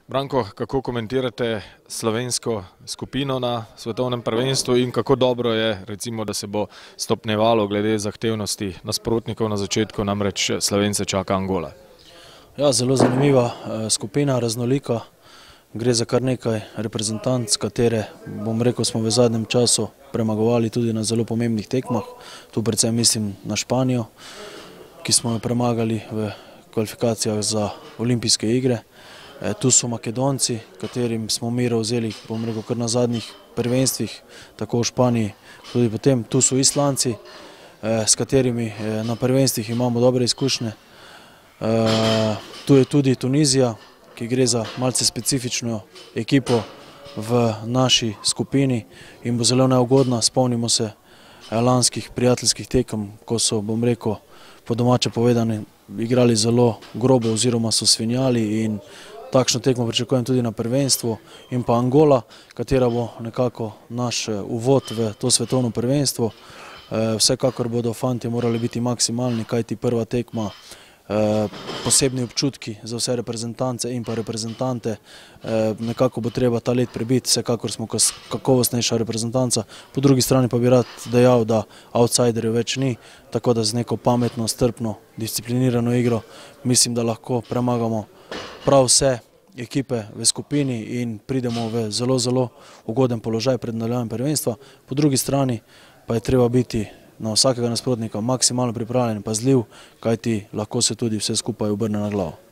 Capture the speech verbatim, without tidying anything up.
Branko, kako komentirate slovensko skupino na svetovnem prvenstvu in kako dobro je, recimo, da se bo stopnjevalo glede zahtevnosti nasprotnikov na začetku, namreč Slovence čaka Angola? Ja, zelo zanimiva skupina, raznolika. Gre za kar nekaj reprezentanc, katere, bom rekel, smo v zadnjem času premagovali tudi na zelo pomembnih tekmah. Tu predvsem mislim na Španijo, ki smo jo premagali v kvalifikacijah za olimpijske igre. Tu so Makedonci, katerim smo miro vzeli, bom rekel, kar na zadnjih prvenstvih, tako v Španiji, tudi potem. Tu so Islandci, s katerimi na prvenstvih imamo dobre izkušnje. Tu je tudi Tunizija, ki gre za malce specifično ekipo v naši skupini in bo zelo neugodna. Spomnimo se lanskih prijateljskih tekem, ko so, bom rekel, po domače povedane, igrali zelo grobo oziroma so svinjali, in takšno tekmo pričakujem tudi na prvenstvu. In pa Angola, katera bo nekako naš uvod v to svetovno prvenstvo. Vsekakor bodo fantje morali biti maksimalni, kajti prva tekma, posebni občutki za vse reprezentance in pa reprezentante. Nekako bo treba ta let prebiti, vsekakor smo kakovostnejša reprezentanca. Po drugi strani pa bi rad dejal, da outsiderjev več ni, tako da z neko pametno, strpno, disciplinirano igro mislim, da lahko premagamo prav vse ekipe v skupini in pridemo v zelo, zelo ugoden položaj pred nadaljevanjem prvenstva. Po drugi strani pa je treba biti na vsakega nasprotnika maksimalno pripravljen in pazljiv, kajti lahko se tudi vse skupaj obrne na glavo.